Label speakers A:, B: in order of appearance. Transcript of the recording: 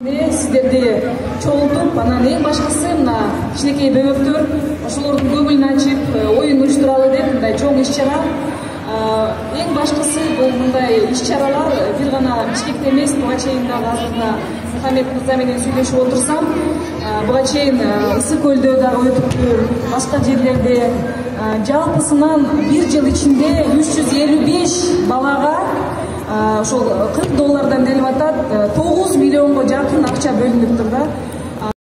A: Сиздерди чогултуп, анан эң башкысы мына кичинекей бөбөктөр ошолордун көңүлүн ачып, оюн уюштуралы деп мындай чоң иш-чара. Эң башкысы бул мындай иш-чаралар бир гана Бишкекте эмес, буга чейин дагы азыр Мухаммед мырза менен сүйлөшүп отурсам, буга чейин Ысык көлдө дагы өтүптү, башка жерлерде. Жалпысынан бир жыл ичинде 355 балага ошол $40 делип атат, 9 миллионго жакын акча бөлүнүптүр да.